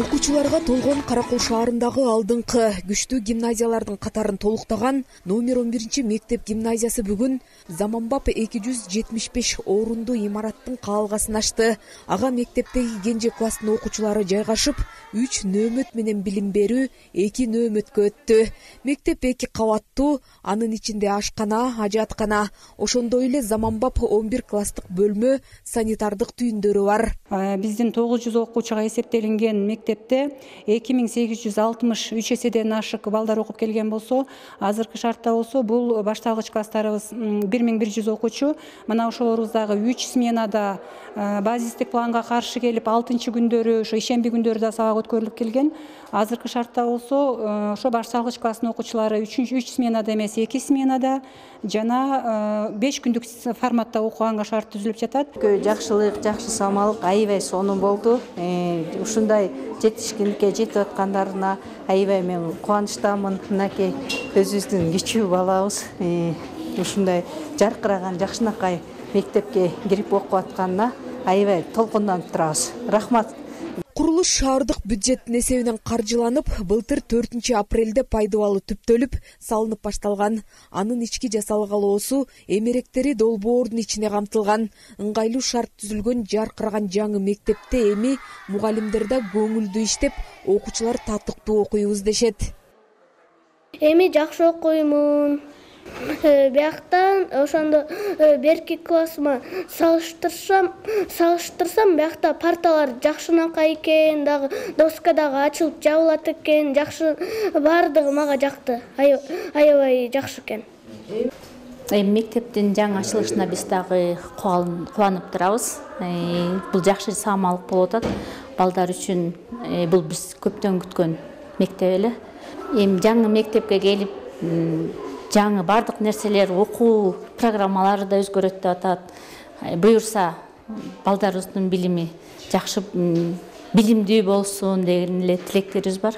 Окуучуларга толгон Каракол шаарындагы алдыңкы күчтүү гимназиялардын катарын толуктаган номер 11 мектеп гимназиясы бүгүн заманбап 275 орунду имараттын каалгасын ачты. Ага мектептеги кенже класстын окуучулары жайгашып, 3 нөөмөт менен билим берүү 2 нөөмөткө өттү. Мектеп 2 кабаттуу, анын ичинде ашкана, ажаткана, ошондой эле заманбап 11 класстык бөлмө, санитардык түйүндөрү бар. Биздин 900 окуучуга эсептелинген мектепте 2863 эседен ашык балдар окуп келген болсо, азыркы шартта болсо бул башталгыч класстарыбыз 1100 окуучу. Мына ошолорубуздагы 3 сменада базистик планга каршы келип, 6-күндөрү, ошо ишемби күндөрү да сабак өткөрүлүп келген. Азыркы шартта болсо, ошо башталгыч класстын окуучулары 3 сменада эмес, 2 сменада жана 5 күндүк форматта окуганга шарт түзүлүп жатат. Жакшылык, жакшы самалык аябай сонун болду. Ушундай жетишкиндикке жетип аткандарына аябай мен кубанычтамын. Мынакей өзүбүздүн кичүү балабыз ушундай жаркыраган жакшынакай мектепке кирип окуп атканына аябай толкунданып турабыз. Рахмат. Курулуш шаардык бюджеттин эсебинен каржыланып, былтыр 4 апрелде пайдубалы түптөлүп, салынып башталган. Анын ички жасалгалоосу эмеректери долбоордун ичине камтылган. Ыңгайлуу шарт түзүлгөн жаркыраган жаңы мектепте эми мугалимдер да көңүлдүү иштеп, окуучулар татыктуу окуйбуз дешет. Эми жакшы окуймун. Бияктан ошондо берки классыма салыштырсам биякта парталар жакшынакай экен, дагы доска дагы ачылып жабылат экен, жакшы, баардыгы мага жакты. Аябай жакшы экен. Мектептин жаңы ачылышына биз дагы кубанып турабыз. Бул жакшы самалык болуп атат. Балдар үчүн бул биз көптөн күткөн мектеп эле. Эми жаңы мектепке келип, жаңы бардык нерселер, окуу программалары да өзгөрөт деп атат. Буюрса, балдарыбыздын билими жакшы, билимдүү болсун деген эле тилектерибиз бар.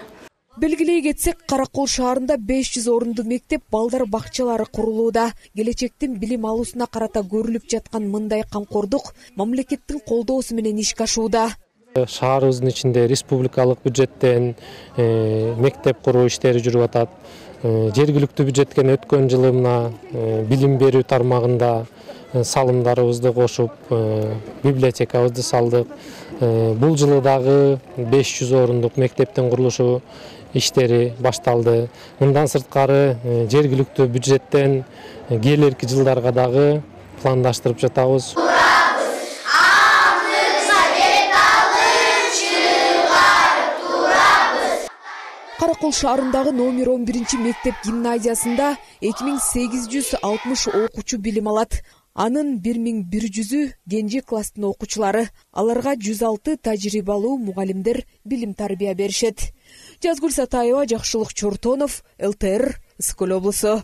Белгилей кетсек, Каракол шаарында 500 орунду мектеп, балдар бакчалары курулууда. Келечектин билим алуусуна карата көрүлүп жаткан мындай камкордук мамлекеттин колдоосу менен ишке ашууда. Шаарыбыздын ичинде республикалык бюджеттен мектеп куруу иштери жүрүп атат. Жергиликтүү бюджеттен өткөн жылы мына билим берүү тармагында салымдарыбызды кошуп, библиотекабызды салдык. Бул жылы дагы 500 орундук мектептин курулушу иштери башталды. Мындан сырткары жергиликтүү бюджеттен келерки жылдарга дагы пландаштырып жатабыз. Каракол шаарындагы номер 11 мектеп гимназиясында 2860 окуучу билим алат. Анын 1100-ü кенже класстын окуучулары. Аларга 106 тажрыйбалуу мугалимдер билим тарбия беришет. Жазгүл Сатаева, Жакшылык Чортонов, ЛТР, Ысык Көл облусу.